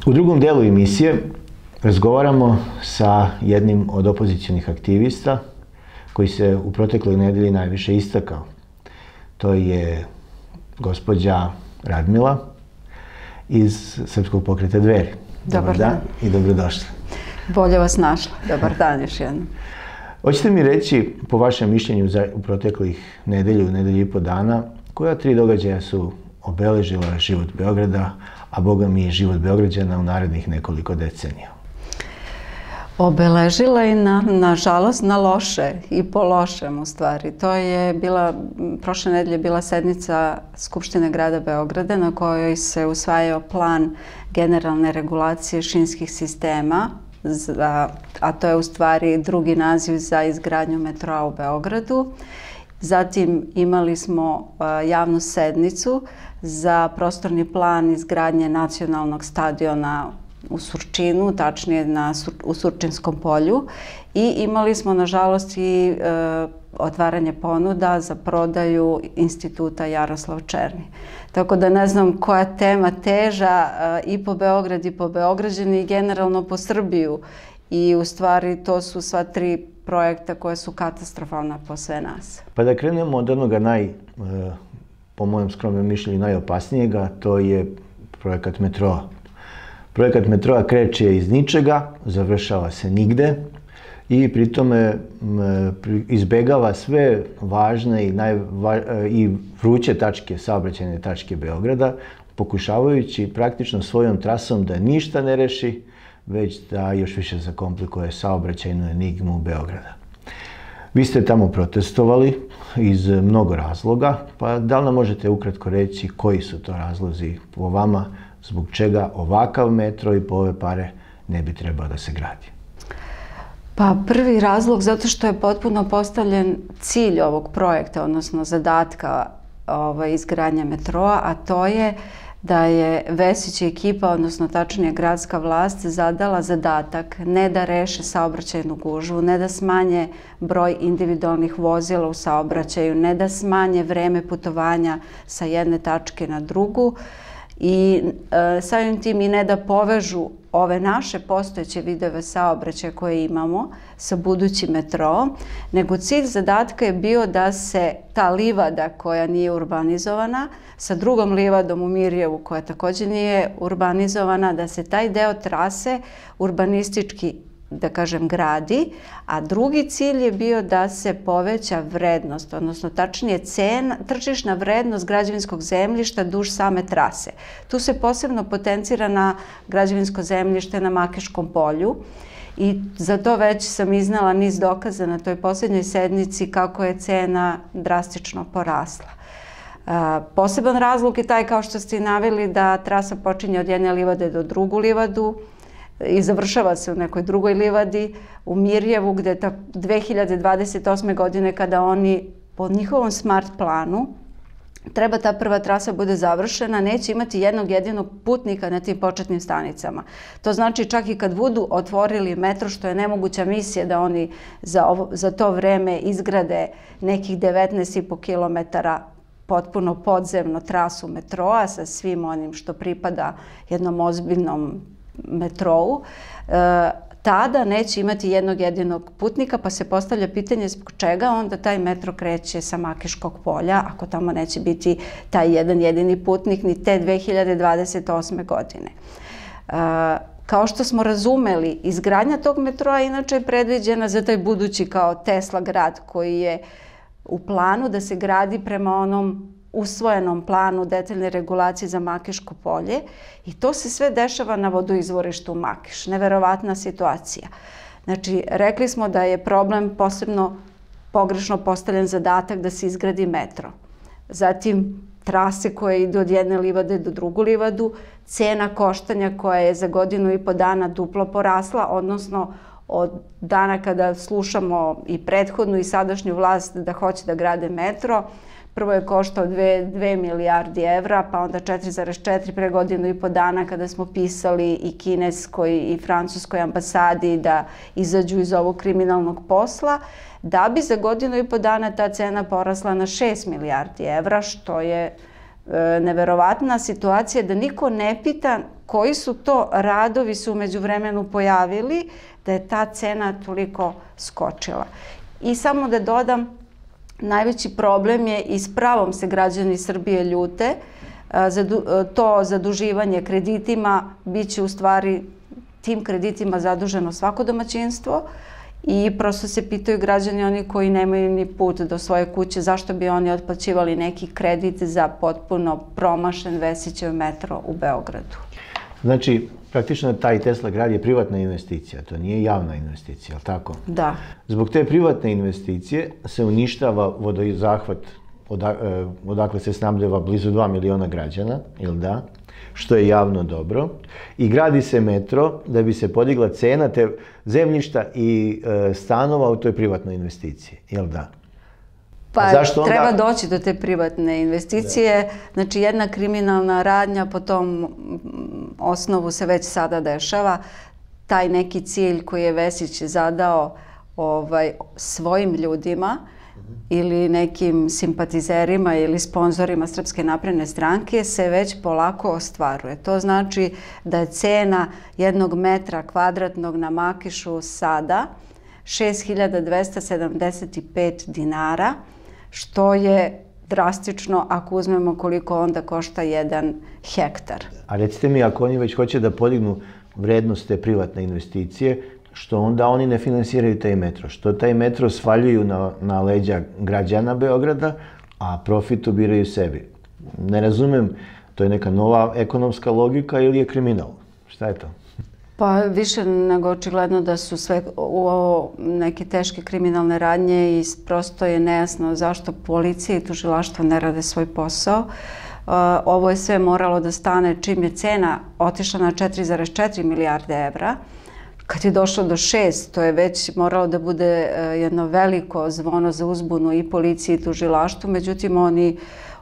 U drugom delu emisije razgovaramo sa jednim od opozicionih aktivista koji se u protekloj nedelji najviše istakao. To je gospođa Radmila iz Srpskog pokreta Dveri. Dobar dan i dobrodošli. Bolje vas našla. Dobar dan još jednom. Hoćete mi reći, po vašem mišljenju u proteklih nedelju i po dana, koja 3 događaja su obeležila život Beograda, a boga mi i život Beograđana u narednih nekoliko decenija? Obeležila i nažalost na loše i po lošem u stvari. To je bila, prošle nedelje bila sednica Skupštine grada Beograda na kojoj se usvajao plan generalne regulacije šinskih sistema, a to je u stvari drugi naziv za izgradnju metroa u Beogradu. Zatim imali smo javnu sednicu za prostorni plan izgradnje nacionalnog stadiona u Surčinu, tačnije u Surčinskom polju, i imali smo nažalost i otvaranje ponuda za prodaju Instituta Jaroslav Černi. Tako da ne znam koja tema teža i po Beograd i po Beograđani i generalno po Srbiju. I u stvari to su sva 3 projekta koje su katastrofalna po sve nas. Pa da krenemo od onoga po mojem skromnom mišljenju, najopasnijega, to je projekat metroa. Projekat metroa kreće iz ničega, završava se nigde i pri tome izbegava sve važne i vruće tačke, saobraćajne tačke Beograda, pokušavajući praktično svojom trasom da ništa ne reši, već da još više zakomplikuje saobraćajnu enigmu Beograda. Vi ste tamo protestovali iz mnogo razloga, pa da li nam možete ukratko reći koji su to razlozi po vama, zbog čega ovakav metro i po ove pare ne bi trebao da se gradi? Pa prvi razlog zato što je potpuno postavljen cilj ovog projekta, odnosno zadatka izgradnje metroa, a to je da je Vesić i ekipa, odnosno tačnije gradska vlast, zadala zadatak ne da reše saobraćajnu gužvu, ne da smanje broj individualnih vozila u saobraćaju, ne da smanje vreme putovanja sa jedne tačke na drugu i samim tim i ne da povežu ove naše postojeće vidove saobraćaja koje imamo sa budućim metroom, nego cilj zadatka je bio da se ta livada koja nije urbanizovana sa drugom livadom u Mirjevu koja također nije urbanizovana, da se taj deo trase urbanistički, da kažem, gradi, a drugi cilj je bio da se poveća vrednost, odnosno tačnije tržišna vrednost građevinskog zemljišta duž same trase. Tu se posebno potencira na građevinsko zemljište na Makiškom polju i za to već sam iznala niz dokaza na toj posljednjoj sednici kako je cena drastično porasla. Poseban razlog je taj, kao što ste i naveli, da trasa počinje od jedne livade do drugu livadu i završava se u nekoj drugoj livadi u Mirjevu, gde 2028. godine, kada oni po njihovom smart planu treba ta prva trasa bude završena, neće imati jednog jedinog putnika na tim početnim stanicama. To znači čak i kad budu otvorili metro, što je nemoguća misija da oni za to vreme izgrade nekih 19,5 kilometara potpuno podzemno trasu metroa sa svim onim što pripada jednom ozbiljnom metrou, tada neće imati jednog jedinog putnika, pa se postavlja pitanje zbog čega onda taj metro kreće sa Makiškog polja, ako tamo neće biti taj jedan jedini putnik ni te 2028. godine. Kao što smo razumeli, izgradnja tog metroa inače je predviđena za taj budući kao Tesla grad koji je u planu da se gradi prema onom usvojenom planu detaljne regulacije za Makiško polje i to se sve dešava na vodoizvorištu Makiš. Neverovatna situacija. Znači, rekli smo da je problem posebno pogrešno postavljen zadatak da se izgradi metro. Zatim, trase koje idu od jedne livade do drugu livadu, cena koštanja koja je za 1,5 godina duplo porasla, odnosno od dana kada slušamo i prethodnu i sadašnju vlast da hoće da grade metro, prvo je koštao 2 milijardi evra, pa onda 4,4 pre 1,5 dana kada smo pisali i kineskoj i francuskoj ambasadi da izađu iz ovog kriminalnog posla, da bi za 1,5 dana ta cena porasla na 6 milijardi evra, što je neverovatna situacija da niko ne pita koji su to radovi su u međuvremenu pojavili da je ta cena toliko skočila. I samo da dodam, najveći problem je i s pravom se građani Srbije ljute, to zaduživanje kreditima biće u stvari tim kreditima zaduženo svako domaćinstvo i prosto se pitaju građani, oni koji nemaju ni put do svoje kuće, zašto bi oni otplaćivali neki kredit za potpuno promašen Vesićev metro u Beogradu. Znači, praktično taj Tesla grad je privatna investicija, to nije javna investicija, je li tako? Da. Zbog te privatne investicije se uništava vodozahvat odakle se snabdeva blizu 2 miliona građana, ili da? Što je javno dobro. I gradi se metro da bi se podigla cena te zemljišta i stanova u toj privatnoj investiciji, jel da? Pa treba doći do te privatne investicije. Znači jedna kriminalna radnja po tom osnovu se već sada dešava. Taj neki cilj koji je Vesić zadao svojim ljudima ili nekim simpatizerima ili sponzorima Srpske napredne stranke se već polako ostvaruje. To znači da je cena jednog metra kvadratnog na Makišu sada 6.275 dinara, što je drastično ako uzmemo koliko onda košta jedan hektar. A recite mi, ako oni već hoće da podignu vrednost te privatne investicije, što onda oni ne finansiraju taj metro? Što taj metro svaljuju na leđa građana Beograda, a profit ubiraju sebi? Ne razumem, to je neka nova ekonomska logika ili je kriminal? Šta je to? Pa više nego očigledno da su sve neke teške kriminalne radnje i prosto je nejasno zašto policija i tužilaštvo ne rade svoj posao. Ovo je sve moralo da stane čim je cena otišla na 4,4 milijarde evra. Kad je došlo do 6, to je već moralo da bude jedno veliko zvono za uzbunu i policiji i tužilaštvu, međutim oni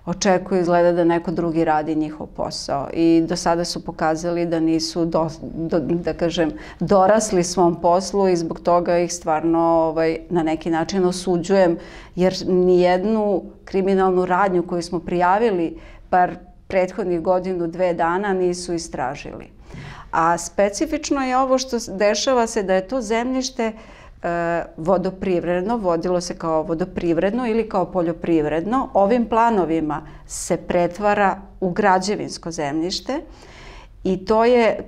očekuju izgleda da neko drugi radi njihov posao i do sada su pokazali da nisu, da kažem, dorasli svom poslu i zbog toga ih stvarno na neki način osuđujem, jer nijednu kriminalnu radnju koju smo prijavili bar prethodnih godinu, 2 dana nisu istražili. A specifično je ovo što dešava se da je to zemljište vodoprivredno, vodilo se kao vodoprivredno ili kao poljoprivredno. Ovim planovima se pretvara u građevinsko zemljište i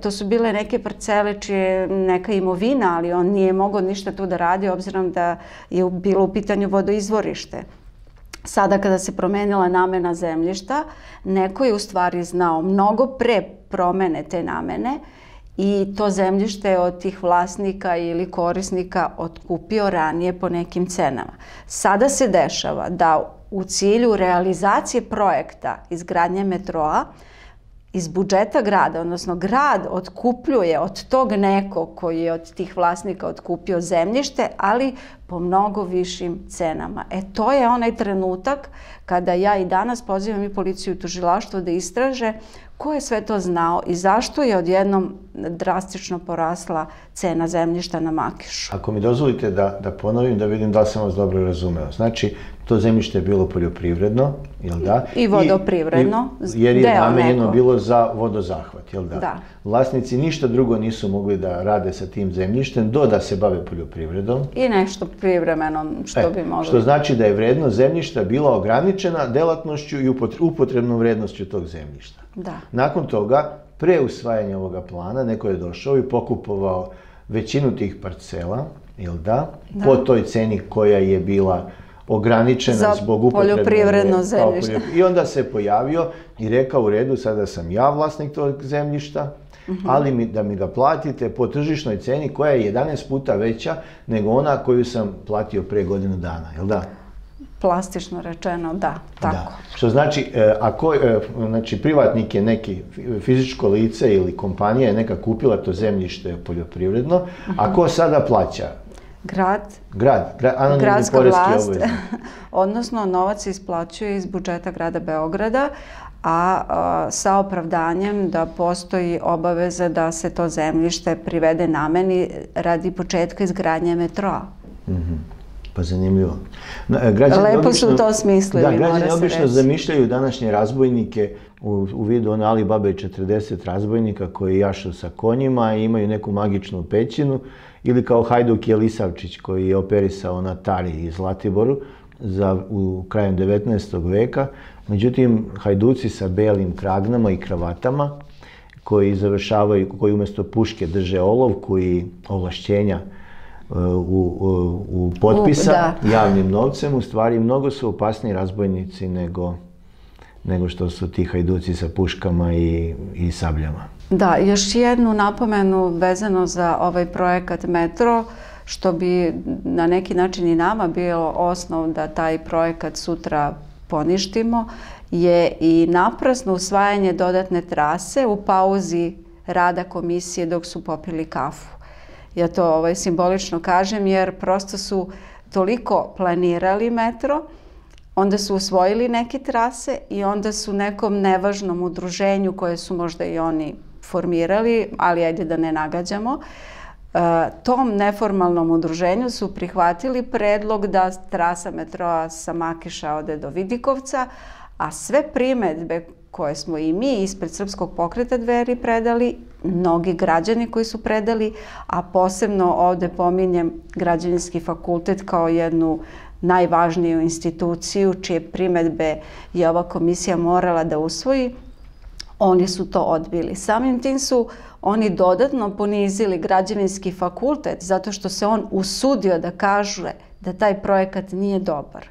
to su bile neke parcele čije je neka imovina, ali on nije mogao ništa tu da radi obzirom da je bilo u pitanju vodoizvorište. Sada kada se promenila namena zemljišta, neko je u stvari znao mnogo pre promene te namene i to zemljište je od tih vlasnika ili korisnika otkupio ranije po nekim cenama. Sada se dešava da u cilju realizacije projekta izgradnje metroa iz budžeta grada, odnosno grad otkupljuje od tog nekog koji je od tih vlasnika otkupio zemljište, ali po mnogo višim cenama. To je onaj trenutak kada ja i danas pozivam i policiju i tužilaštvo da istraže ko je sve to znao i zašto je odjednom drastično porasla cena zemljišta na Makišu. Ako mi dozvolite da ponovim, da vidim da li sam vas dobro razumeo. Znači, to zemljište je bilo poljoprivredno, jel da? I vodoprivredno. Jer je namenjeno bilo za vodozahvat, jel da? Da. Vlasnici ništa drugo nisu mogli da rade sa tim zemljištem do da se bave poljoprivredom. I nešto privremeno što bi mogli. Što znači da je vrednost zemljišta bila ograničena delatnošću i upotrebnom vrednošću tog zemljišta. Da. Nakon toga, pre usvajanja ovoga plana, neko je došao i pokupovao većinu tih parcela, jel da? Po toj ceni koja je bila ograničena zbog upotrebe poljoprivredno zemljište. I onda se pojavio i rekao u redu, sada sam ja vlasnik tog zemljišta, ali da mi ga platite po tržišnoj ceni koja je 11 puta veća nego ona koju sam platio pre godinu dana, jel da? Plastično rečeno, da, tako. Što znači, znači privatnik je neki fizičko lice ili kompanija je neka kupila to zemljište poljoprivredno, a ko sada plaća? Grad. Anonimni Gradska poreski vlast, obveznik. odnosno novac se isplaćuje iz budžeta grada Beograda, a sa opravdanjem da postoji obaveza da se to zemljište privede nameni radi početka izgradnje metroa. Pa zanimljivo. Lepo su to smislili, mora se reći. Građani obično zamišljaju današnje razbojnike u vidu one Alibabe i 40 razbojnika koji jašu sa konjima i imaju neku magičnu pećinu, ili kao Hajduk Jelisavčić koji je operisao na Tari i Zlatiboru u krajem 19. veka. Međutim, hajduci sa belim kragnama i kravatama koji završavaju, koji umjesto puške drže olovku i ovlašćenja u potpisa javnim novcem, u stvari mnogo su opasniji razbojnici nego što su ti hajduci sa puškama i sabljama. Da, još jednu napomenu vezano za ovaj projekat Metro, što bi na neki način i nama bio osnov da taj projekat sutra poništimo, je i naprasno usvajanje dodatne trase u pauzi rada komisije dok su popili kafu. Ja to simbolično kažem jer prosto su toliko planirali metro, onda su usvojili neke trase i onda su nekom nevažnom udruženju koje su možda i oni formirali, ali ajde da ne nagađamo, tom neformalnom udruženju su prihvatili predlog da trasa metroa sa Makiša ode do Vidikovca, a sve primedbe koje smo i mi ispred Srpskog pokreta Dveri predali, mnogi građani koji su predali, a posebno ovde pominjem Građevinski fakultet kao jednu najvažniju instituciju čije primedbe je ova komisija morala da usvoji, oni su to odbili. Samim tim su oni dodatno ponizili Građevinski fakultet zato što se on usudio da kaže da taj projekat nije dobar.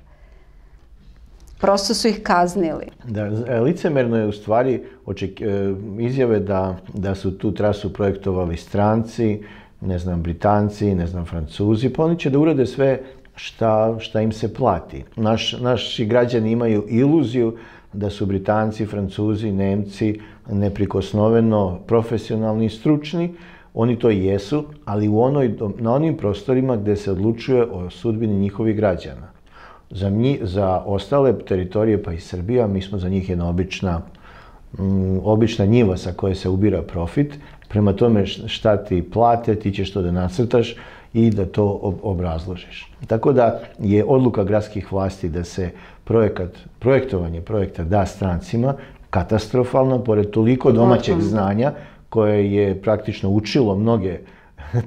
Prosto su ih kaznili. Da, licemerno je u stvari izjave da su tu trasu projektovali stranci, ne znam, Britanci, ne znam, Francuzi, pa oni će da urade sve šta im se plati. Naši građani imaju iluziju da su Britanci, Francuzi, Nemci neprikosnoveno profesionalni i stručni. Oni to jesu, ali na onim prostorima gde se odlučuje o sudbini njihovih građana. Za ostale teritorije, pa i Srbija, mi smo za njih jedna obična njiva sa koje se ubira profit. Prema tome šta ti plate, ti ćeš to da nacrtaš i da to obrazložiš. Tako da je odluka gradskih vlasti da se projektovanje projekta da strancima katastrofalno, pored toliko domaćeg znanja koje je praktično učilo mnoge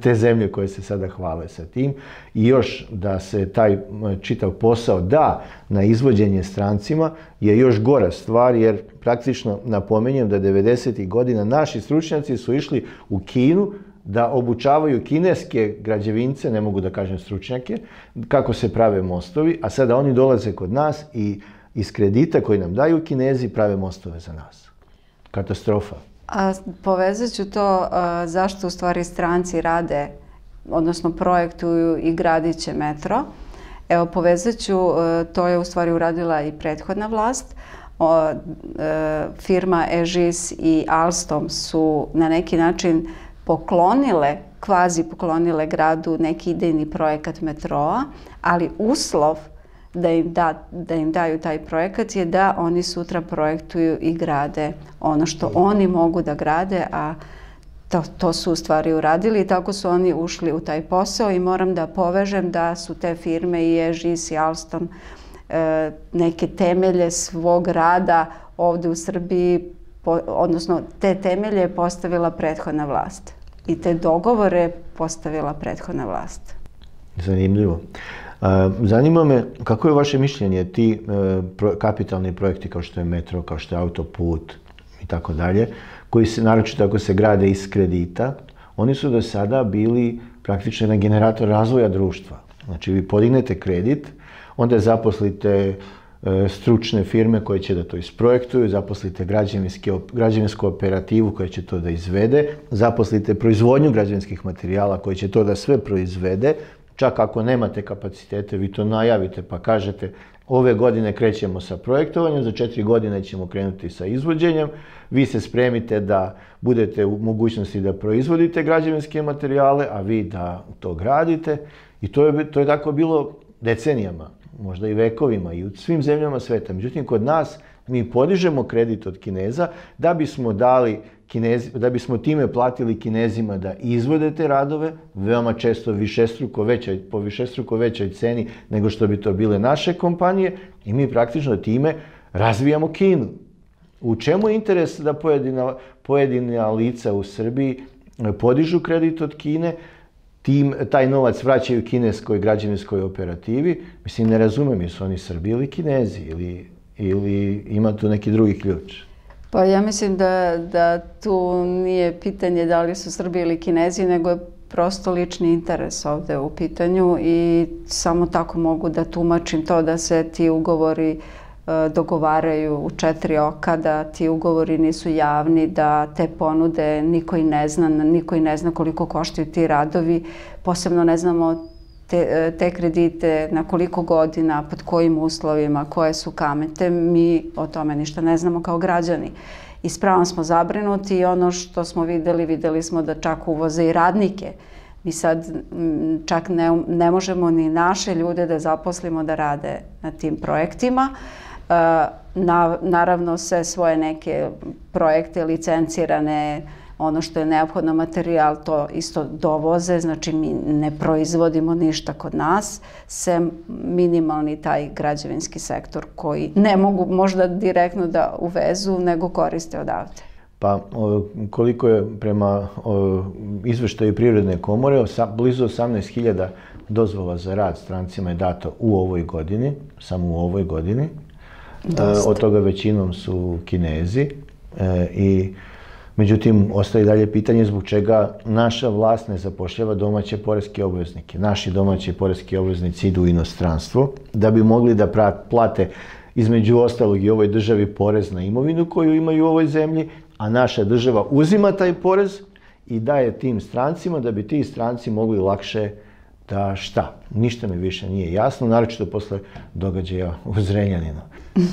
te zemlje koje se sada hvale sa tim, i još da se taj čitav posao da na izvođenje strancima je još gora stvar, jer praktično napominjem da 90. godina naši stručnjaci su išli u Kinu da obučavaju kineske građevince, ne mogu da kažem stručnjake, kako se prave mostovi, a sada oni dolaze kod nas i iz kredita koji nam daju Kinezi prave mostove za nas. Katastrofa. A povezat ću to zašto u stvari stranci rade, odnosno projektuju i gradit će metro. Evo, povezat ću, to je u stvari uradila i prethodna vlast. Firma Egis i Alstom su na neki način kvazi poklonile gradu neki idejni projekat metroa, ali uslov da im daju taj projekat je da oni sutra projektuju i grade ono što oni mogu da grade, a to su u stvari uradili i tako su oni ušli u taj posao i moram da povežem da su te firme i Egis i Alstom neke temelje svog rada ovde u Srbiji, odnosno te temelje je postavila prethodna vlast i te dogovore postavila prethodna vlast. Zanimljivo. Zanima me, kako je vaše mišljenje, ti kapitalni projekti kao što je metro, kao što je autoput i tako dalje, koji se, naročito ako se grade iz kredita, oni su do sada bili praktično jedan generator razvoja društva. Znači, vi podignete kredit, onda zaposlite stručne firme koje će da to isprojektuju, zaposlite građevinsku operativu koja će to da izvede, zaposlite proizvodnju građevinskih materijala koji će to da sve proizvede. Čak ako nemate kapacitete, vi to najavite pa kažete ove godine krećemo sa projektovanjem, za 4 godine ćemo krenuti sa izvođenjem, vi se spremite da budete u mogućnosti da proizvodite građevinske materijale, a vi da to gradite, i to je tako bilo decenijama, možda i vekovima i u svim zemljama sveta. Međutim, kod nas mi podižemo kredit od Kineza da bismo time platili Kinezima da izvode te radove, veoma često po višestruko većoj ceni nego što bi to bile naše kompanije, i mi praktično time razvijamo Kinu. U čemu je interes da pojedina lica u Srbiji podižu kredit od Kine, taj novac vraćaju kineskoj građevinskoj operativi? Mislim, ne razumem, jesu oni Srbi ili Kinezi ili ima tu neki drugi ključ? Pa ja mislim da tu nije pitanje da li su Srbi ili Kinezi, nego je prosto lični interes ovde u pitanju i samo tako mogu da tumačim to da se ti ugovori dogovaraju u 4 oka, da ti ugovori nisu javni, da te ponude niko i ne zna koliko koštaju ti radovi, posebno ne znamo te kredite, na koliko godina, pod kojim uslovima, koje su kamate, mi o tome ništa ne znamo kao građani. Ispravno smo zabrinuti i ono što smo videli smo da čak uvoze i radnike. Mi sad čak ne možemo ni naše ljude da zaposlimo da rade na tim projektima. Naravno, sve svoje neke projekte licencirane, ono što je neophodno materijal, to isto dovoze, znači mi ne proizvodimo ništa kod nas, sem minimalni taj građevinski sektor koji ne mogu možda direktno da uvezu, nego koriste odavde. Pa koliko je prema izveštaju Privredne komore, blizu 18.000 dozvola za rad strancima je dato u ovoj godini, samo u ovoj godini. Od toga većinom su Kinezi i međutim, ostaje dalje pitanje zbog čega naša vlast ne zapošljava domaće poreske obveznike. Naši domaći poreski obveznici idu u inostranstvo da bi mogli da plate između ostalog i ovoj državi porez na imovinu koju imaju u ovoj zemlji, a naša država uzima taj porez i daje tim strancima da bi ti stranci mogli lakše da šta? Ništa mi više nije jasno, naročito posle događaja u Zrenjaninu.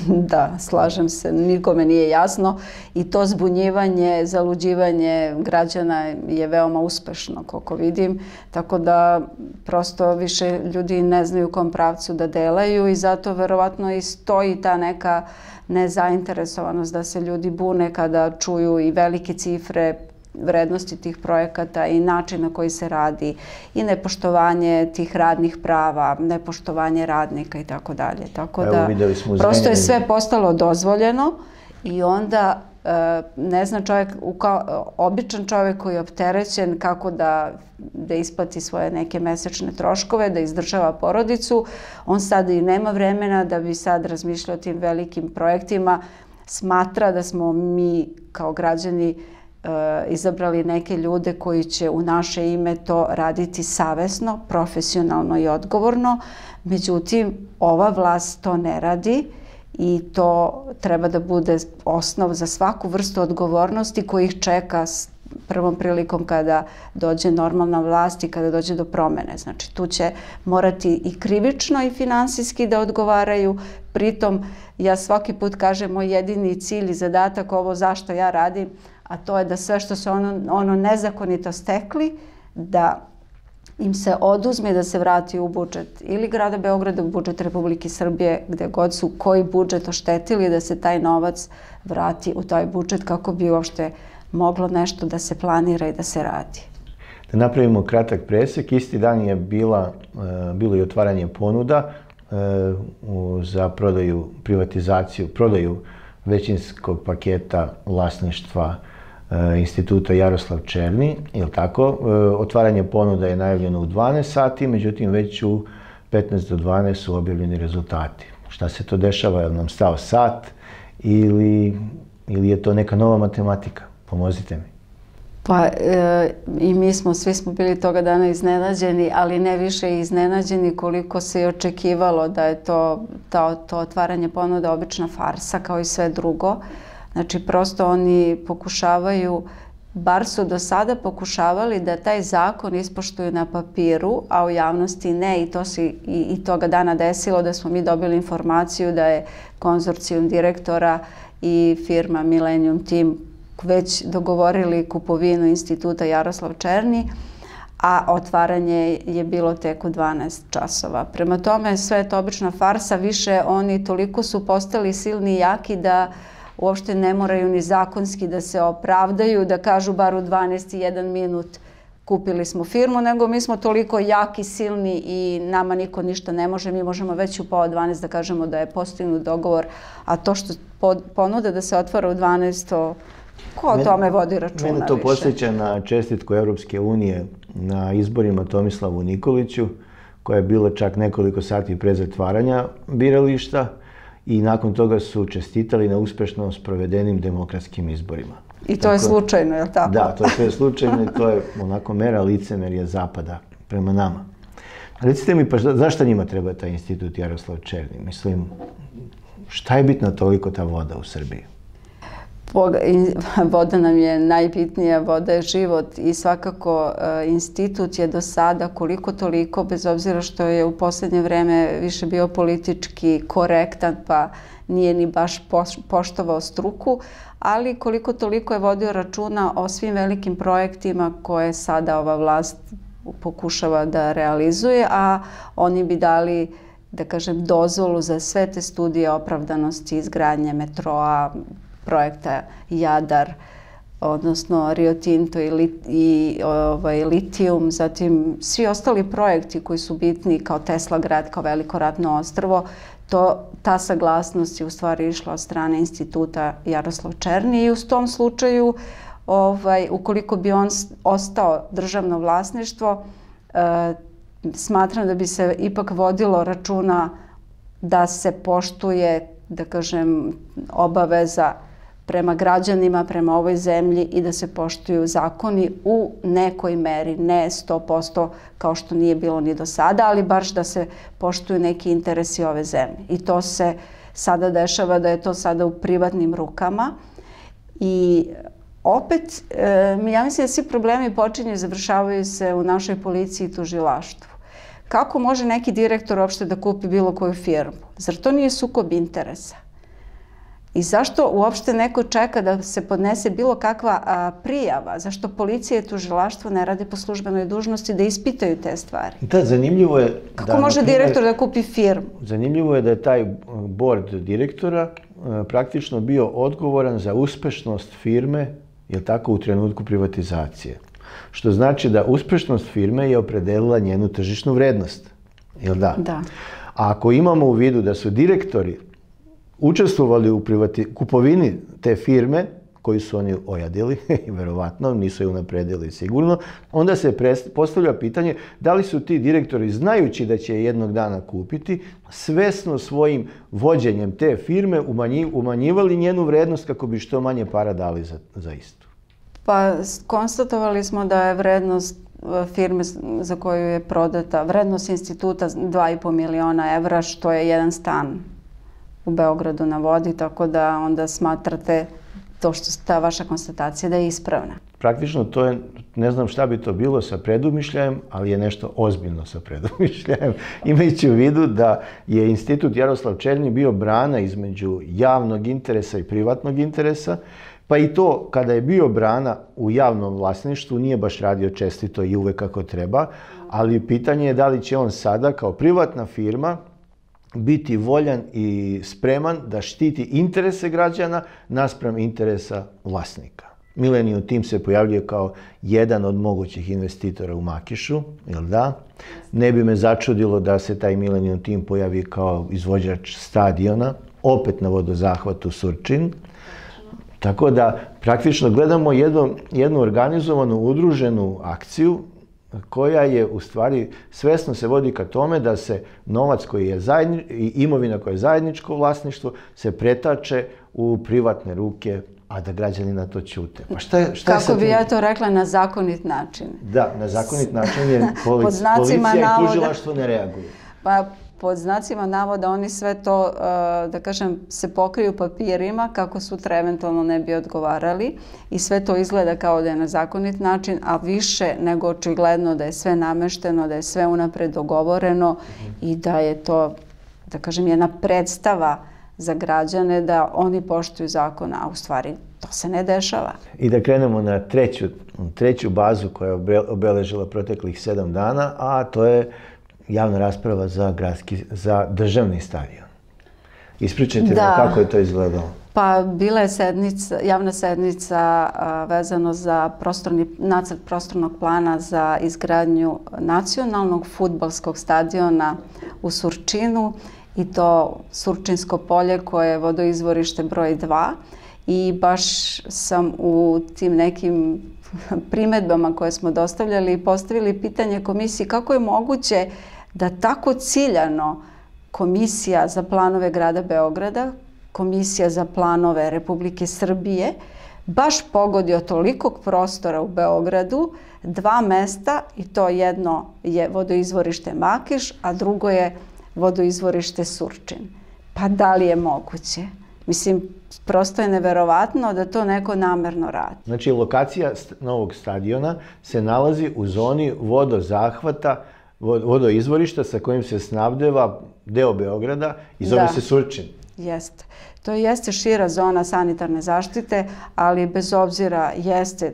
Da, slažem se, nikome nije jasno i to zbunjivanje, zaluđivanje građana je veoma uspešno, koliko vidim, tako da prosto više ljudi ne znaju u kom pravcu da delaju i zato verovatno i stoji ta neka nezainteresovanost da se ljudi bune kada čuju i velike cifre vrednosti tih projekata i način na koji se radi i nepoštovanje tih radnih prava, nepoštovanje radnika i tako dalje. Tako da prosto je sve postalo dozvoljeno i onda ne zna čovjek, običan čovjek koji je opterećen kako da isplati svoje neke mesečne troškove, da izdržava porodicu, on sad i nema vremena da bi sad razmišljao o tim velikim projektima, smatra da smo mi kao građani izabrali neke ljude koji će u naše ime to raditi savesno, profesionalno i odgovorno. Međutim, ova vlast to ne radi i to treba da bude osnov za svaku vrstu odgovornosti koji ih čeka s prvom prilikom kada dođe normalna vlast i kada dođe do promene. Znači, tu će morati i krivično i finansijski da odgovaraju. Pritom, ja svaki put kažem, moj jedini cilj i zadatak, ovo zašto ja radim, a to je da sve što su ono nezakonito stekli, da im se oduzme, da se vrati u budžet ili grada Beograda, u budžet Republike Srbije, gde god su koji budžet oštetili, da se taj novac vrati u taj budžet kako bi uopšte moglo nešto da se planira i da se radi. Da napravimo kratak presek, isti dan je bilo i otvaranje ponuda za prodaju većinskog paketa vlasništva Instituta Jaroslav Černi, je li tako? Otvaranje ponuda je najavljeno u 12 sati, međutim već u 15 do 12 su objavljeni rezultati. Šta se to dešava? Je li nam stao sat ili je to neka nova matematika? Pomozite mi. Pa i svi smo bili toga dana iznenađeni, ali ne više iznenađeni koliko se i očekivalo da je to otvaranje ponuda obična farsa kao i sve drugo. Znači, prosto oni pokušavaju, bar su do sada pokušavali da taj zakon ispoštuju na papiru, a u javnosti ne, i to se i toga dana desilo da smo mi dobili informaciju da je konzorcijum direktora i firma Millennium Team već dogovorili kupovinu Instituta Jaroslav Černi, a otvaranje je bilo tek u 12 časova. Prema tome, sve je to obična farsa, više oni toliko su postali silni i jaki da uopšte ne moraju ni zakonski da se opravdaju, da kažu bar u 12 i 1 minut kupili smo firmu, nego mi smo toliko jaki, silni i nama niko ništa ne može. Mi možemo već u pola 12 da kažemo da je postignut dogovor, a to što ponude da se otvara u 12, ko o tome vodi računa više? Mene to podsjeća na čestitku Europske unije na izborima Tomislavu Nikoliću, koja je bila čak nekoliko sati pre zatvaranja birališta i nakon toga su čestitali na uspešno sprovedenim demokratskim izborima. I to je slučajno, je li tako? Da, to je slučajno i to je onako mera licemerja Zapada prema nama. Recite mi, pa zašto njima treba taj institut Jaroslav Černi? Mislim, šta je bitna toliko ta voda u Srbiji? Voda nam je najbitnija, voda je život i svakako institut je do sada koliko toliko, bez obzira što je u posljednje vreme više bio politički korektan pa nije ni baš poštovao struku, ali koliko toliko je vodio računa o svim velikim projektima koje sada ova vlast pokušava da realizuje, a oni bi dali, da kažem, dozvolu za sve te studije opravdanosti izgradnje metroa, projekta Jadar, odnosno Rio Tinto i litijum, zatim svi ostali projekti koji su bitni kao Tesla grad, kao veliko ratno ostrvo, ta saglasnost je u stvari išla od strane instituta Jaroslav Černi i u tom slučaju, ukoliko bi on ostao državno vlasništvo, smatram da bi se ipak vodilo računa da se poštuje, da kažem, obaveza prema građanima, prema ovoj zemlji i da se poštuju zakoni u nekoj meri, ne 100% kao što nije bilo ni do sada, ali baš da se poštuju neki interesi ove zemlje. I to se sada dešava da je to sada u privatnim rukama i opet, ja mislim da svi problemi počinju i završavaju se u našoj policiji i tužilaštvu. Kako može neki direktor uopšte da kupi bilo koju firmu? Zar to nije sukob interesa? I zašto uopšte neko čeka da se podnese bilo kakva prijava? Zašto policija i tužilaštvo ne rade po službenoj dužnosti da ispitaju te stvari? Da, zanimljivo je... Kako može direktor da kupi firmu? Zanimljivo je da je taj bord direktora praktično bio odgovoran za uspešnost firme, je tako, u trenutku privatizacije. Što znači da uspešnost firme je opredelila njenu tržišnu vrednost. Jel da? Da. A ako imamo u vidu da su direktori učestvovali u kupovini te firme, koju su oni ojadili, verovatno, nisu je unapredili sigurno, onda se postavlja pitanje da li su ti direktori, znajući da će je jednog dana kupiti, svesno svojim vođenjem te firme umanjivali njenu vrednost kako bi što manje para dali za istu. Pa konstatovali smo da je vrednost firme za koju je prodata, vrednost instituta 2,5 miliona evra, što je jedan stan u Beogradu na vodi, tako da onda smatrate to što ta vaša konstatacija da je ispravna. Praktično to je, ne znam šta bi to bilo sa predumišljajem, ali je nešto ozbiljno sa predumišljajem, imajući u vidu da je institut Jaroslav Černi bio brana između javnog interesa i privatnog interesa, pa i to kada je bio brana u javnom vlasništvu nije baš radio čestito i uvek kako treba, ali pitanje je da li će on sada kao privatna firma biti voljan i spreman da štiti interese građana naspram interesa vlasnika. Millennium Team se pojavljuje kao jedan od mogućih investitora u Makišu, jel da? Ne bi me začudilo da se taj Millennium Team pojavi kao izvođač stadiona, opet na vodozahvatu Surčin. Tako da praktično gledamo jednu organizovanu, udruženu akciju koja je u stvari svesno se vodi ka tome da se novac koji je i imovina koja je zajedničko vlasništvo se pretače u privatne ruke, a da građani na to ćute. Pa šta je kako bi ja to rekla, na zakonit način? Da, na zakonit način je policija i tužilaštvo ne reaguju. Pa pod znacima navoda oni sve to, da kažem, se pokriju papirima kako sutra eventualno ne bi odgovarali i sve to izgleda kao da je na zakonit način, a više nego očigledno da je sve namešteno, da je sve unapred dogovoreno i da je to, da kažem, jedna predstava za građane da oni poštuju zakon, a u stvari to se ne dešava. I da krenemo na treću bazu koja je obeležila proteklih 7 dana, a to je javna rasprava za državni stadion. Ispričajte mi kako je to izgledalo. Pa bila je javna sednica vezano za nacrt prostornog plana za izgradnju nacionalnog fudbalskog stadiona u Surčinu i to Surčinsko polje koje je vodoizvorište broj 2 i baš sam u tim nekim primedbama koje smo dostavljali postavili pitanje komisiji kako je moguće da tako ciljano Komisija za planove grada Beograda, Komisija za planove Republike Srbije baš pogodio tolikog prostora u Beogradu, 2 mesta i to jedno je vodoizvorište Makiš, a drugo je vodoizvorište Surčin. Pa da li je moguće? Mislim, prosto je neverovatno da to neko namerno radi. Znači, lokacija novog stadiona se nalazi u zoni vodozahvata, vodoizvorišta sa kojim se snabdeva deo Beograda i zove se Surčin. Jeste. To jeste šira zona sanitarne zaštite, ali bez obzira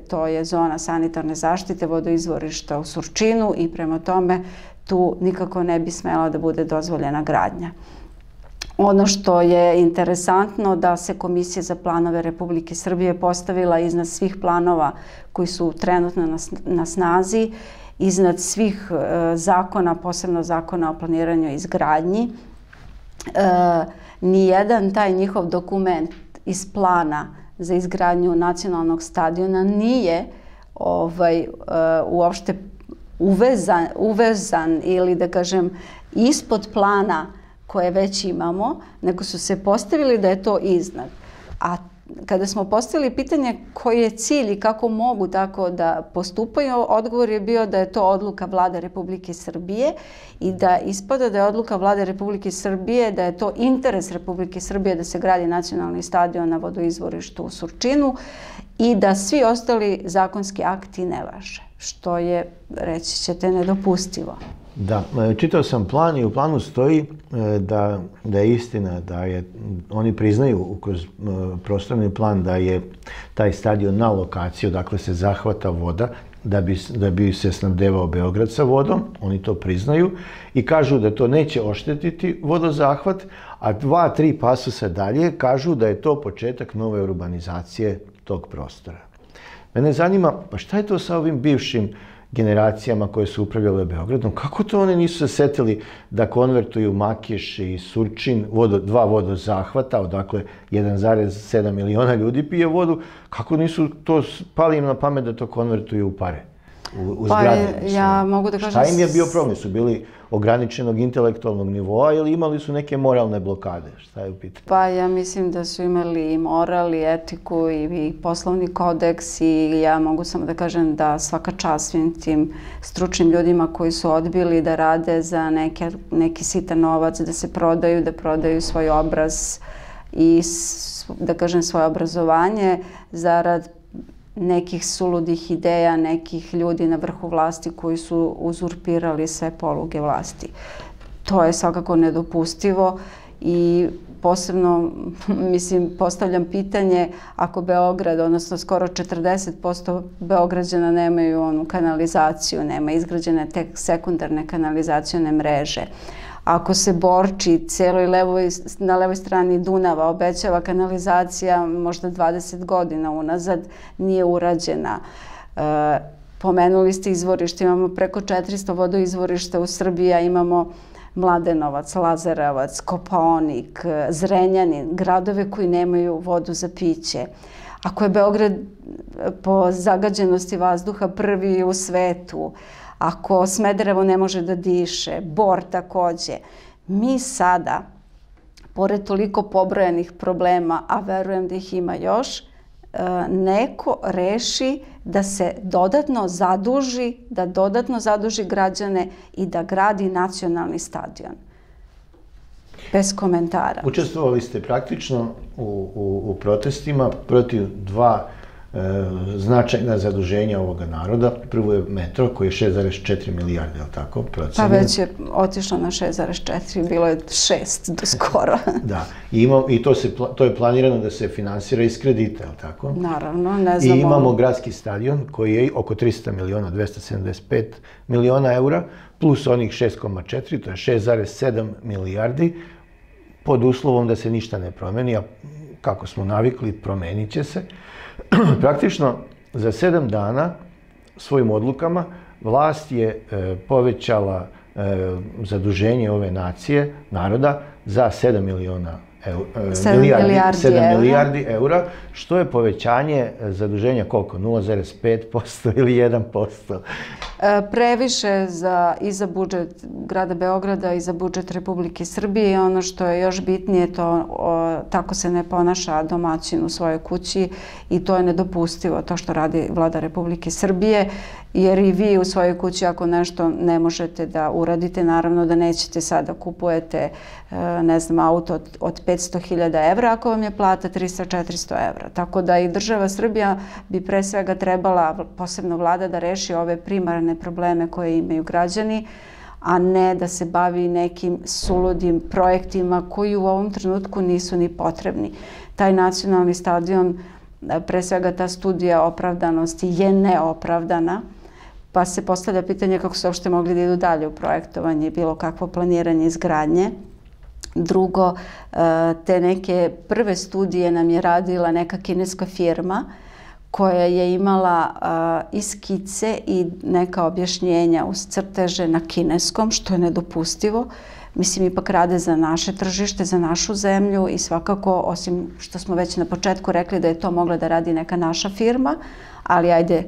to je zona sanitarne zaštite vodoizvorišta u Surčinu i prema tome tu nikako ne bi smela da bude dozvoljena gradnja. Ono što je interesantno da se Komisija za planove Republike Srbije postavila iznad svih planova koji su trenutno na snazi, iznad svih zakona, posebno zakona o planiranju i izgradnji. Nijedan taj njihov dokument iz plana za izgradnju nacionalnog stadiona nije uopšte uvezan ili da kažem ispod plana koje već imamo, nego su se postavili da je to iznad. A kada smo postavili pitanje koji je cilj i kako mogu tako da postupaju, odgovor je bio da je to odluka Vlade Republike Srbije i da ispada da je odluka Vlade Republike Srbije, da je to interes Republike Srbije da se gradi nacionalni stadion na vodoizvorištu u Surčinu i da svi ostali zakonski akti ne važe, što je, reći ćete, nedopustivo. Da, čitao sam plan i u planu stoji da je istina, oni priznaju kroz prostorni plan da je taj stadion na lokaciju, dakle se zahvata voda da bi se snabdevao Beograd sa vodom, oni to priznaju i kažu da to neće oštetiti vodozahvat, a 2-3 pasusa dalje kažu da je to početak nove urbanizacije tog prostora. Mene zanima, pa šta je to sa ovim bivšim generacijama koje su upravljale Beogradom? Kako to oni nisu se setili da konvertuju Makiš i Surčin, 2 vodozahvata, odakle 1,7 miliona ljudi pije vodu, kako nisu to pali im na pamet da to konvertuju u pare, u zgrade? Ja mogu da kažem... Šta im je bio problem? Su bili ograničenog intelektualnog nivoa ili imali su neke moralne blokade? Šta je u pitanju? Pa ja mislim da su imali i moral i etiku i poslovni kodeks i ja mogu samo da kažem da svaka čast svim tim stručnim ljudima koji su odbili da rade za neki sitan novac, da prodaju svoj obraz i da kažem svoje obrazovanje zarad nekih suludih ideja, nekih ljudi na vrhu vlasti koji su uzurpirali sve poluge vlasti. To je svakako nedopustivo i posebno, mislim, postavljam pitanje ako Beograd, odnosno skoro 40% Beograđana nemaju onu kanalizaciju, nema izgrađene tek sekundarne kanalizacione mreže. Ako se Borči na levoj strani Dunava obećava kanalizacija možda 20 godina unazad, nije urađena. Pomenuli ste izvorište, imamo preko 400 vodoizvorišta u Srbiji, a imamo Mladenovac, Lazarevac, Kopaonik, Zrenjanin, gradove koji nemaju vodu za piće. Ako je Beograd po zagađenosti vazduha prvi u svetu, ako Smederevo ne može da diše, Bor takođe, mi sada, pored toliko pobrojanih problema, a verujem da ih ima još, neko reši da se dodatno zaduži građane i da gradi nacionalni stadion. Bez komentara. Učestvovali ste praktično u protestima protiv 2 značajna zaduženja ovoga naroda. Prvo je metro koji je 6,4 milijarde, je li tako? Pa već je otišlo na 6,4, bilo je 6 do skoro. Da, i to je planirano da se finansira iz kredita, je li tako? Naravno, ne znamo. I imamo gradski stadion koji je oko 300 miliona, 275 miliona eura, plus onih 6,4, to je 6,7 milijardi, pod uslovom da se ništa ne promeni, a kako smo navikli, promenit će se. Praktično za 7 dana svojim odlukama vlast je povećala zaduženje ove nacije, naroda, za 7 milijardi eura, što je povećanje zaduženja koliko? 0,5% ili 1%? Previše i za budžet grada Beograda i za budžet Republike Srbije i ono što je još bitnije, tako se ne ponaša domaćin u svojoj kući i to je nedopustivo, to što radi vlada Republike Srbije, jer i vi u svojoj kući ako nešto ne možete da uradite, naravno da nećete sada kupujete, ne znam, auto od 500.000 evra ako vam je plata 300-400 evra. Tako da i država Srbija bi pre svega trebala, posebno vlada, da reši ove primarne probleme koje imaju građani, a ne da se bavi nekim suludim projektima koji u ovom trenutku nisu ni potrebni. Taj nacionalni stadion, pre svega ta studija opravdanosti je neopravdana, pa se postavlja pitanje kako su uopšte mogli da idu dalje u projektovanje i bilo kakvo planiranje izgradnje. Drugo, te neke prve studije nam je radila neka kineska firma koja je imala i skice i neka objašnjenja uz crteže na kineskom, što je nedopustivo. Mislim, ipak rade za naše tržište, za našu zemlju i svakako, osim što smo već na početku rekli da je to mogla da radi neka naša firma, ali ajde,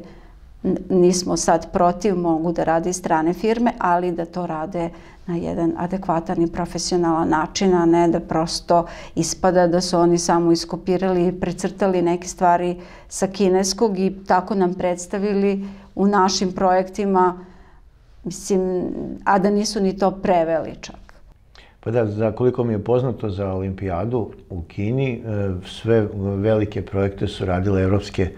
nismo sad protiv, mogu da rade i strane firme, ali da to rade na jedan adekvatan i profesionalan način, a ne da prosto ispada da su oni samo iskopirali i precrtali neke stvari sa kineskog i tako nam predstavili u našim projektima, mislim, a da nisu ni to preveli čak. Pa da, za koliko mi je poznato za olimpijadu u Kini, sve velike projekte su radile evropske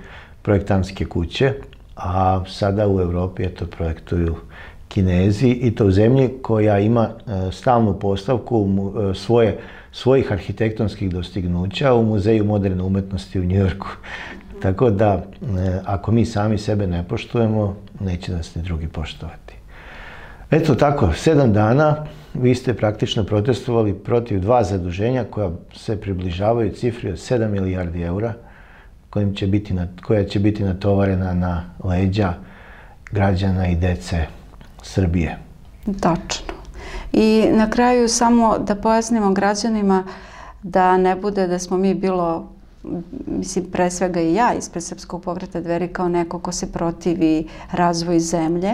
projektantske kuće, a sada u Evropi projektuju Kinezi i to u zemlji koja ima stalnu postavku svojih arhitektonskih dostignuća u Muzeju moderne umetnosti u Njujorku. Tako da, ako mi sami sebe ne poštujemo, neće nas ni drugi poštovati. Eto tako, 7 dana vi ste praktično protestovali protiv 2 zaduženja koja se približavaju cifri od 7 milijardi eura, koja će biti natovarena na leđa građana i dece Srbije. Tačno. I na kraju samo da pojasnimo građanima da ne bude da smo mi mislim, pre svega i ja ispred Srpskog pokreta Dveri kao neko ko se protivi razvoju zemlje,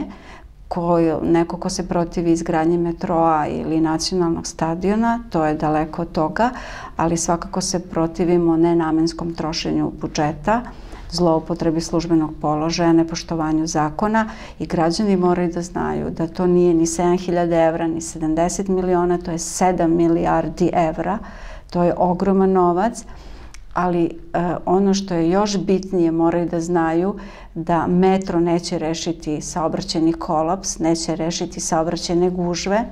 neko ko se protivi izgradnji metroa ili nacionalnog stadiona, to je daleko od toga, ali svakako se protivimo nenamenskom trošenju budžeta, zloupotrebi službenog položaja, nepoštovanju zakona i građani moraju da znaju da to nije ni 7.000 evra, ni 70 miliona, to je 7 milijardi evra, to je ogroman novac, ali ono što je još bitnije moraju da znaju da metro neće rešiti saobraćajni kolaps, neće rešiti saobraćajne gužve,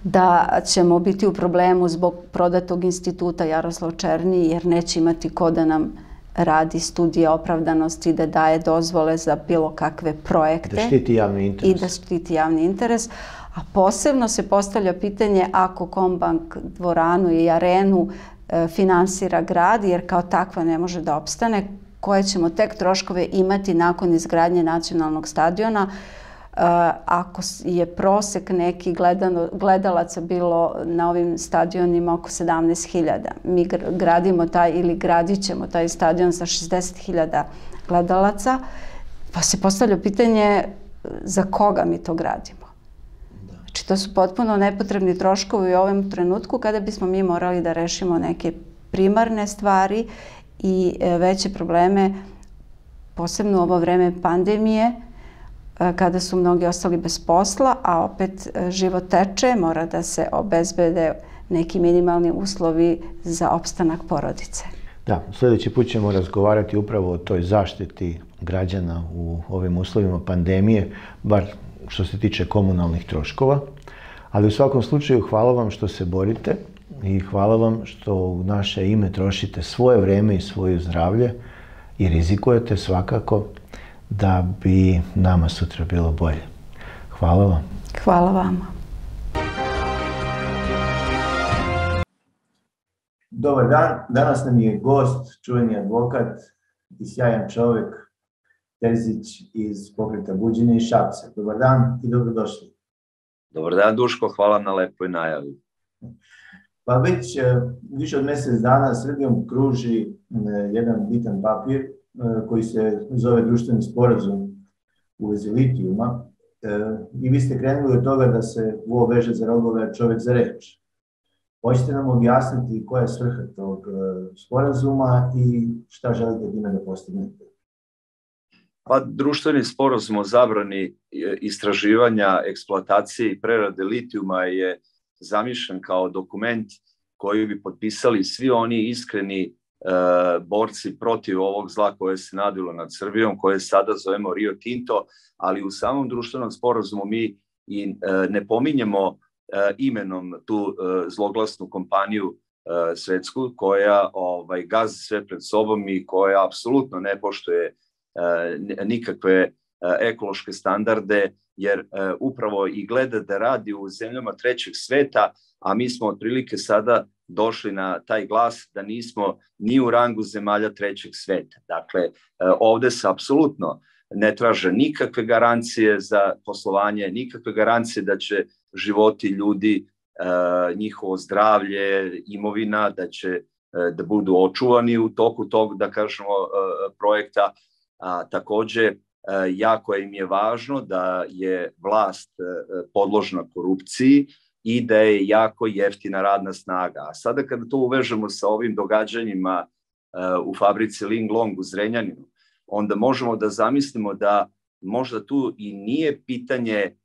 da ćemo biti u problemu zbog prodatog instituta Jaroslav Černi jer neće imati ko da nam radi studije opravdanosti, da daje dozvole za bilo kakve projekte. Da štiti javni interes. I da štiti javni interes. A posebno se postavlja pitanje ako Kombank dvoranu i arenu finansira grad, jer kao takva ne može da opstane, koje ćemo tek troškove imati nakon izgradnje nacionalnog stadiona. Ako je prosek neki gledalaca bilo na ovim stadionima oko 17.000, mi gradimo ili gradit ćemo taj stadion sa 60.000 gledalaca, pa se postavlja pitanje za koga mi to gradimo. Znači, to su potpuno nepotrebni troškovi u ovom trenutku kada bismo mi morali da rešimo neke primarne stvari i veće probleme, posebno u ovo vreme pandemije, kada su mnogi ostali bez posla, a opet život teče, mora da se obezbede neki minimalni uslovi za opstanak porodice. Da, sljedeći put ćemo razgovarati upravo o toj zaštiti građana u ovim uslovima pandemije, bar što se tiče komunalnih troškova. Ali u svakom slučaju hvala vam što se borite i hvala vam što u naše ime trošite svoje vreme i svoje zdravlje i rizikujete svakako da bi nama sutra bilo bolje. Hvala vam. Hvala vama. Dobar dan, danas nam je gost, čuveni advokat i sjajan čovjek, Terzić iz pokreta Buđenje iz Šapca. Dobar dan i dobrodošli. Dobar dan, Duško, hvala na lepoj najavi. Pa već više od mjesec dana Srbijom kruži jedan bitan papir koji se zove društveni sporazum u vezi litijuma i vi ste krenuli od toga da se ovo veže za rogove, čovjek za reč. Hoćete nam objasniti koja je svrha tog sporazuma i šta želite time da postignete? Pa, društveni sporazum o zabrani istraživanja, eksploatacije i prerade litijuma je zamišljen kao dokument koji bi potpisali svi oni iskreni borci protiv ovog zla koje se nadvilo nad Srbijom, koje sada zovemo Rio Tinto, ali u samom društvenom sporazumu mi i ne pominjemo imenom tu zloglasnu kompaniju svetsku koja gazi sve pred sobom i koja apsolutno ne poštuje nikakve ekološke standarde, jer upravo i gleda da radi u zemljama trećeg sveta, a mi smo otprilike sada došli na taj glas da nismo ni u rangu zemalja trećeg sveta. Dakle, ovde se apsolutno ne traže nikakve garancije za poslovanje, nikakve garancije da će životi ljudi, njihovo zdravlje, imovina, da budu očuvani u toku tog, da kažemo, projekta. Takođe, jako im je važno da je vlast podložna korupciji i da je jako jeftina radna snaga. A sada kada to uvežemo sa ovim događanjima u fabrici Linglong u Zrenjaninu, onda možemo da zamislimo da možda tu i nije pitanje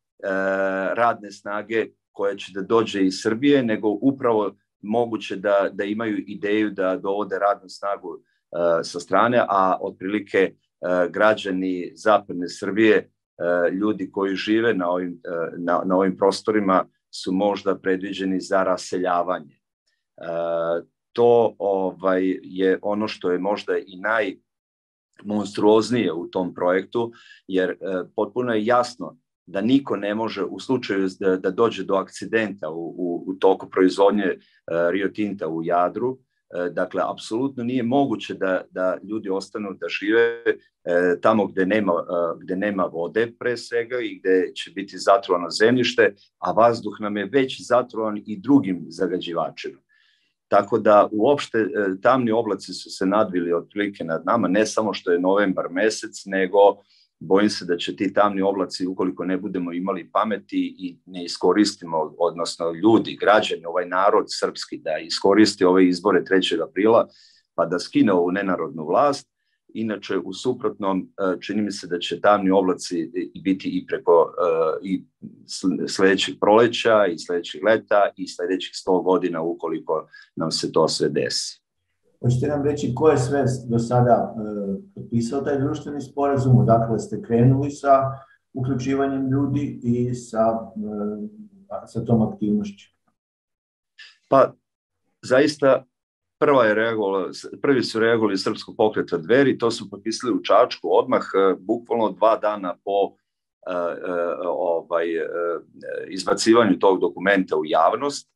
radne snage koja će da dođe iz Srbije, nego upravo moguće da imaju ideju da dovode radnu snagu sa strane, a otprilike građani zapadne Srbije, ljudi koji žive na ovim prostorima, su možda predviđeni za raseljavanje. To je ono što je možda i najmonstruoznije u tom projektu, jer potpuno je jasno da niko ne može u slučaju da dođe do akcidenta u toku proizvodnje Rio Tinta u Jadru. Dakle, apsolutno nije moguće da ljudi ostanu da žive tamo gde nema vode pre svega i gde će biti zatrovano zemljište, a vazduh nam je već zatrovan i drugim zagađivačima. Tako da uopšte tamni oblaci su se nadvili otprilike nad nama, ne samo što je novembar mesec, nego bojim se da će ti tamni oblaci, ukoliko ne budemo imali pameti i ne iskoristimo, odnosno ljudi, građani, ovaj narod srpski, da iskoristi ove izbore 3. aprila, pa da skine ovu nenarodnu vlast. Inače, u suprotnom, čini mi se da će tamni oblaci biti i preko i sledećeg proleća, i sledećeg leta, i sledećih 100 godina, ukoliko nam se to sve desi. Hoćete nam reći ko je sve do sada potpisao taj društveni sporazum, odakle ste krenuli sa uključivanjem ljudi i sa tom aktivnošću? Pa, zaista, prvi su reagovali Srpskog pokreta Dveri, to su potpisali u Čačku odmah, bukvalno 2 dana po izbacivanju tog dokumenta u javnost.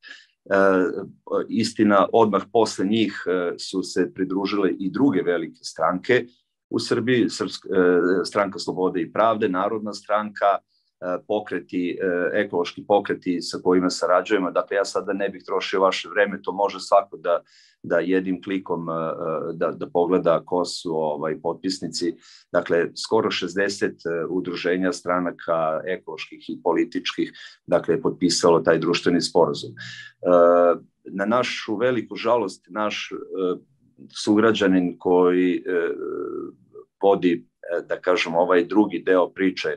Istina, odmah posle njih su se pridružile i druge velike stranke u Srbiji, Stranka slobode i pravde, Narodna stranka, ekološki pokreti sa kojima sarađujemo. Dakle, ja sada ne bih trošio vaše vreme, to može svako da jednim klikom da pogleda ko su potpisnici. Dakle, skoro 60 udruženja stranaka ekoloških i političkih, dakle, je potpisalo taj društveni sporazum. Na našu veliku žalost, naš sugrađanin koji vodi, da kažem, ovaj drugi deo priče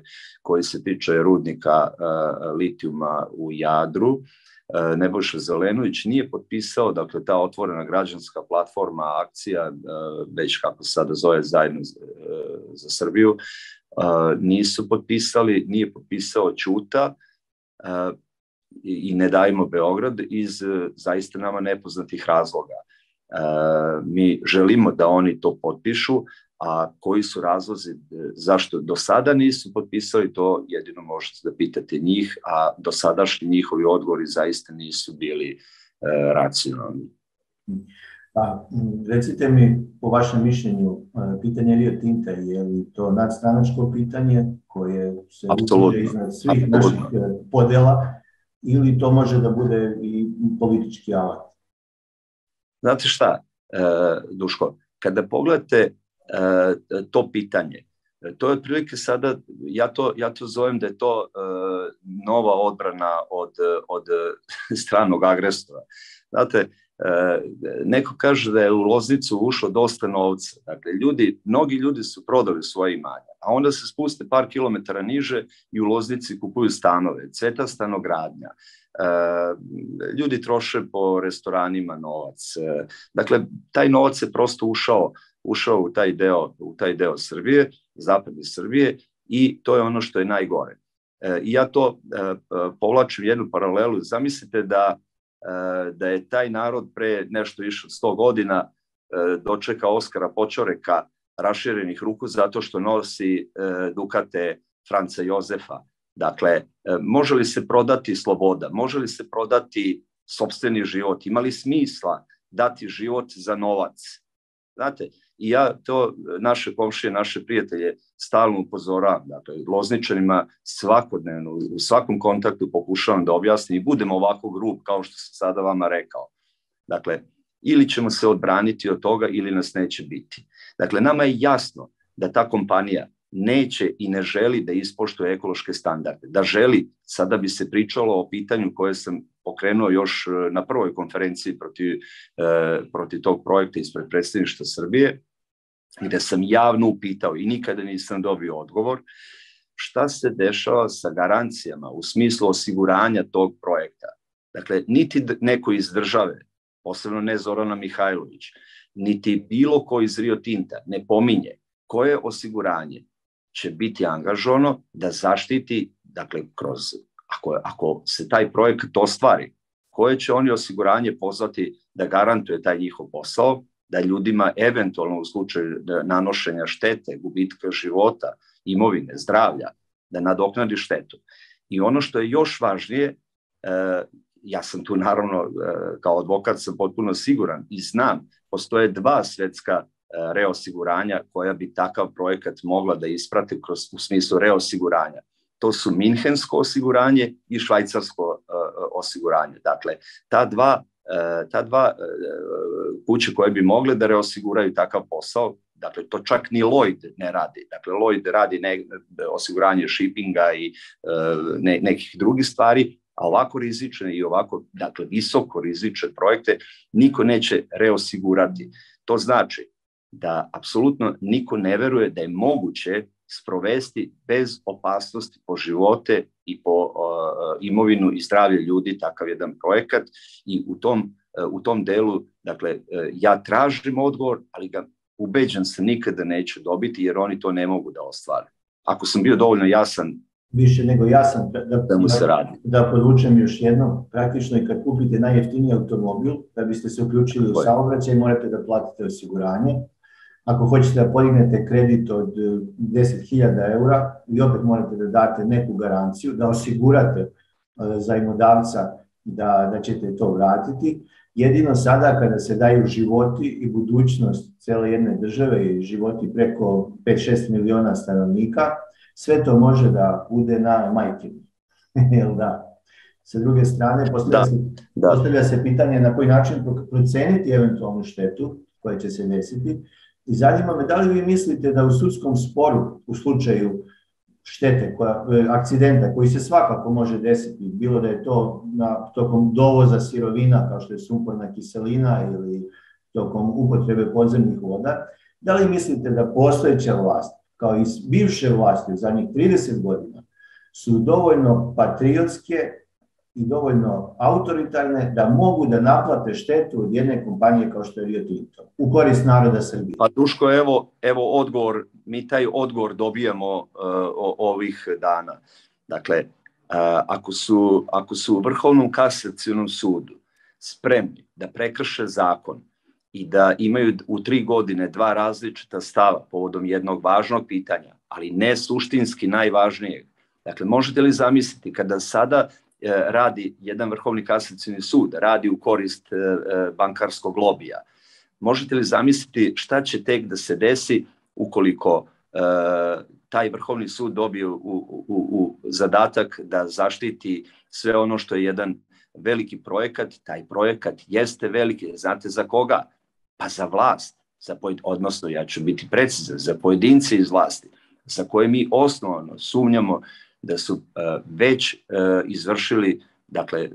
koji se tiče rudnika litijuma u Jadru, Nebojša Zelenović, nije potpisao, dakle, ta otvorena građanska platforma, akcija, već kako se sada zove, Zajedno za Srbiju, nisu potpisali, nije potpisao Ćuta i Ne dajmo Beograd iz zaista nama nepoznatih razloga. Mi želimo da oni to potpišu, a koji su razlozi zašto do sada nisu potpisali, to jedino možete da pitate njih, a do sadašnji njihovi odgovori zaista nisu bili racionalni. Pa, recite mi, po vašem mišljenju, pitanje Rio Tinta, je li to nadstranačko pitanje koje se utiče iznad svih naših podela, ili to može da bude i politički alat? Znate šta, Duško, kada pogledate to pitanje, to je otprilike sada, ja to zovem da je to nova odbrana od stranog agresora. Znate, neko kaže da je u Loznicu ušlo dosta novca. Dakle, mnogi ljudi su prodali svoje imanja, a onda se spuste par kilometara niže i u Loznici kupuju stanove, cveta stanogradnja. Ljudi troše po restoranima novac. Dakle, taj novac je prosto ušao u taj deo Srbije, zapadne Srbije, i to je ono što je najgore. I ja to povlačim jednu paralelu. Zamislite da je taj narod pre nešto više od 100 godina dočekao Oskara Poćoreka raširenih ruku zato što nosi dukate Franca Jozefa. Dakle, može li se prodati sloboda? Može li se prodati sopstveni život? Ima li smisla dati život za novac? Znate, i ja to naše komšije, naše prijatelje stalno upozoravam. Dakle, Lozničanima svakodnevno, u svakom kontaktu pokušavam da objasnim i budem ovako grub kao što sam sada vama rekao. Dakle, ili ćemo se odbraniti od toga ili nas neće biti. Dakle, nama je jasno da ta kompanija neće i ne želi da ispoštuje ekološke standarde. Da želi, sada bi se pričalo o pitanju koje sam pokrenuo još na prvoj konferenciji protiv tog projekta ispred Predstavništva Srbije, gde sam javno upitao i nikada nisam dobio odgovor, šta se dešava sa garancijama u smislu osiguranja tog projekta. Dakle, niti neko iz države, posebno ne Zorana Mihajlović, niti bilo ko iz Rio Tinta ne pominje koje osiguranje će biti angažovano da zaštiti, dakle, ako se taj projekat ostvari, koje će oni osiguranje pozvati da garantuje taj njihov posao, da ljudima eventualno u slučaju nanošenja štete, gubitka života, imovine, zdravlja, da nadoknadi štetu. I ono što je još važnije, ja sam tu naravno kao advokat sam potpuno siguran i znam, postoje 2 svetska reosiguranja koja bi takav projekat mogla da isprate u smislu reosiguranja. To su Minhensko osiguranje i švajcarsko osiguranje. Dakle, ta dva kuće koje bi mogle da reosiguraju takav posao, dakle, to čak ni Lloyd ne radi. Dakle, Lloyd radi osiguranje shippinga i nekih drugih stvari, a ovako rizične i ovako, dakle, visoko rizične projekte niko neće reosigurati. To znači da apsolutno niko ne veruje da je moguće sprovesti bez opasnosti po živote i po imovinu i zdravlje ljudi takav jedan projekat, i u tom delu, dakle, ja tražim odgovor, ali ga ubeđen sam nikada neću dobiti, jer oni to ne mogu da ostvare. Ako sam bio dovoljno jasan, više nego jasan, da mu se radi. Da podvučem još jednom, praktično i kad kupite najjeftiniji automobil, da biste se uključili u saobraćaj, morate da platite osiguranje. Ako hoćete da podignete kredit od 10.000 eura, vi opet morate da date neku garanciju, da osigurate zajmodavca da ćete to vratiti. Jedino sada kada se daju životi i budućnost cele jedne države i životi preko 5-6 miliona stanovnika, sve to može da bude na majkinu. Jel da? Sa druge strane, postavlja se pitanje na koji način proceniti eventualnu štetu koja će se desiti. I zanima me, da li vi mislite da u sudskom sporu, u slučaju štete, akcidenta koji se svakako može desiti, bilo da je to tokom dovoza sirovina kao što je sumporna kiselina ili tokom upotrebe podzemnih voda, da li mislite da postojeća vlast, kao i bivše vlasti u zadnjih 30 godina, su dovoljno patriotske i dovoljno autoritarne da mogu da naplate štetu od jedne kompanije kao što je Rio Tinto u korist naroda Srbije? Pa Duško, evo odgovor, mi taj odgovor dobijamo ovih dana. Dakle, ako su u Vrhovnom kasacionom sudu spremni da prekrše zakon i da imaju u 3 godine 2 različita stava povodom jednog važnog pitanja, ali ne suštinski najvažnijeg. Dakle, možete li zamisliti kada sada radi jedan Vrhovni kasacioni sud, radi u korist bankarskog lobija. Možete li zamisliti šta će tek da se desi ukoliko taj Vrhovni sud dobije u zadatak da zaštiti sve ono što je jedan veliki projekat? Taj projekat jeste veliki, znate za koga? Pa za vlast, odnosno ja ću biti precizan, za pojedince iz vlasti, za koje mi osnovno sumnjamo da su već izvršili, dakle,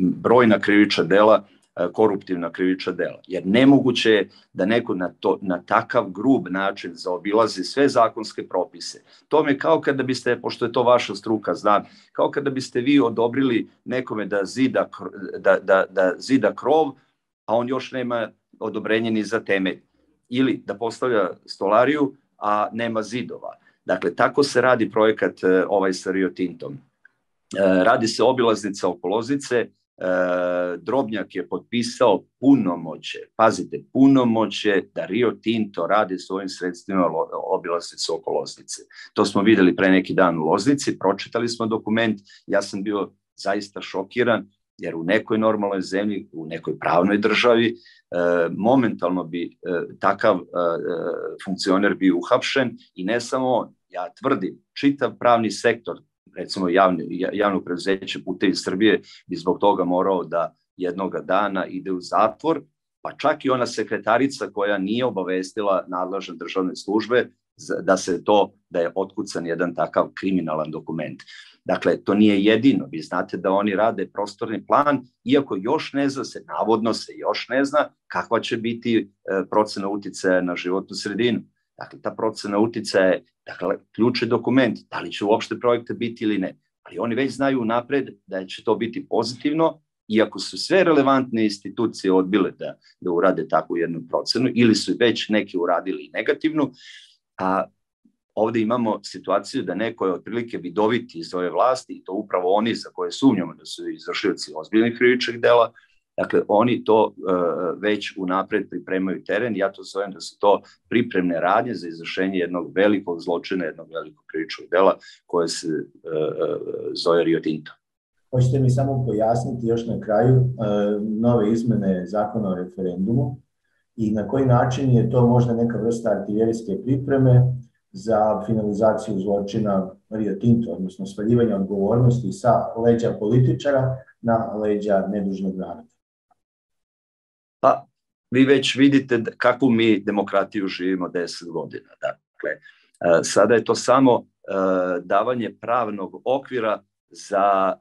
brojna krivična dela, koruptivna krivična dela. Jer nemoguće je da neko na takav grub način zaobilazi sve zakonske propise. To me kao kada biste, pošto je to vaša struka, znam, kao kada biste vi odobrili nekome da zida krov, a on još nema odobrenje ni za temelj. Ili da postavlja stolariju, a nema zidova. Dakle, tako se radi projekat ovaj sa Rio Tintom. Radi se obilaznica oko Loznice, Drobnjak je potpisao punomoćje, pazite, punomoćje da Rio Tinto radi svojim sredstvima obilaznicu oko Loznice. To smo videli pre neki dan u Loznici, pročitali smo dokument, ja sam bio zaista šokiran, jer u nekoj normalnoj zemlji, u nekoj pravnoj državi, momentalno bi takav funkcioner bio uhapšen i ne samo on. Ja tvrdim, čitav pravni sektor, recimo javno preduzeće Putevi Srbije, bi zbog toga morao da jednoga dana ide u zatvor, pa čak i ona sekretarica koja nije obavestila nadležne državne službe da je otkucan jedan takav kriminalan dokument. Dakle, to nije jedino. Vi znate da oni rade prostorni plan, iako još ne zna se, navodno se još ne zna kakva će biti procena uticaja na životnu sredinu. Dakle, ta procena uticaja je, dakle, ključni dokument, da li će uopšte projekta biti ili ne. Ali oni već znaju napred da će to biti pozitivno, iako su sve relevantne institucije odbile da urade takvu jednu procenu, ili su već neki uradili negativnu, a ovde imamo situaciju da neko je otprilike vidoviti iz ove vlasti, i to upravo oni za koje sumnjamo da su izvršioci ozbiljnih krivičnih dela. Dakle, oni to već unapred pripremaju teren. Ja to zovem da su to pripremne radnje za izvršenje jednog velikog zločina, jednog velikog krivičnog dela koje se zove Rio Tinto. Hoćete mi samo pojasniti još na kraju nove izmene zakona o referendumu i na koji način je to možda neka vrsta artiljerijske pripreme za finalizaciju zločina Rio Tinto, odnosno svaljivanja odgovornosti sa leđa političara na leđa nedužnog naroda? Pa, vi već vidite kakvu mi demokratiju živimo 10 godina. Dakle, sada je to samo davanje pravnog okvira za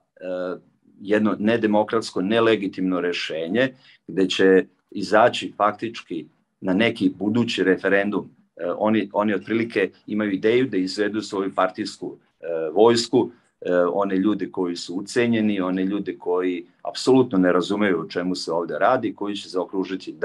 jedno nedemokratsko, nelegitimno rešenje, gde će izaći faktički na neki budući referendum. Oni otprilike imaju ideju da izvedu svoju partijsku vojsku, one ljude koji su ucenjeni, one ljude koji apsolutno ne razumeju o čemu se ovde radi, koji će zaokružiti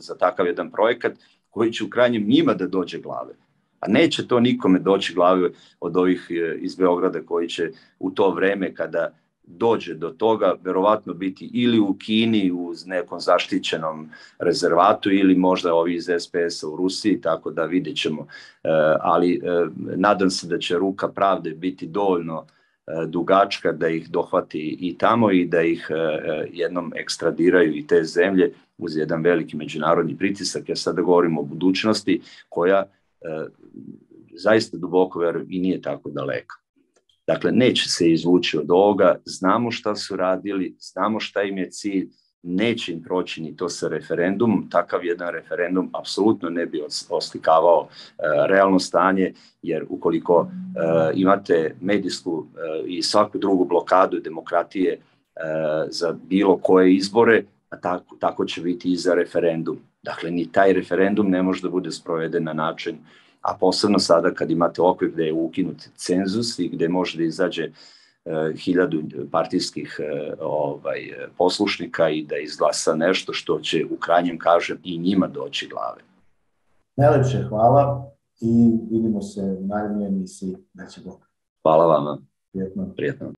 za takav jedan projekat koji će u krajnjem njima da dođe glave. A neće to nikome doći glave od ovih iz Beograda koji će u to vreme kada dođe do toga verovatno biti ili u Kini u nekom zaštićenom rezervatu ili možda ovi iz SPS-a u Rusiji, tako da vidjet ćemo. Ali nadam se da će ruka pravde biti dovoljno dugačka da ih dohvati i tamo i da ih jednom ekstradiraju i te zemlje uz jedan veliki međunarodni pritisak, jer sada govorimo o budućnosti koja zaista duboko verujem i nije tako daleka. Dakle, neće se izvući od ovoga, znamo šta su radili, znamo šta im je cilj, neće im proći ni to sa referendumom, takav jedan referendum apsolutno ne bi oslikavao realno stanje, jer ukoliko imate medijsku i svaku drugu blokadu demokratije za bilo koje izbore, tako će biti i za referendum. Dakle, ni taj referendum ne može da bude sproveden na način, a posebno sada kad imate okvir gde je ukinut cenzus i gde može da izađe 1000 partijskih poslušnika i da izglasa nešto što će u krajnjem, kažem, i njima doći glave. Najlepše hvala i vidimo se u narednoj emisiji. Da će Bog. Hvala vama. Prijetno. Prijetno.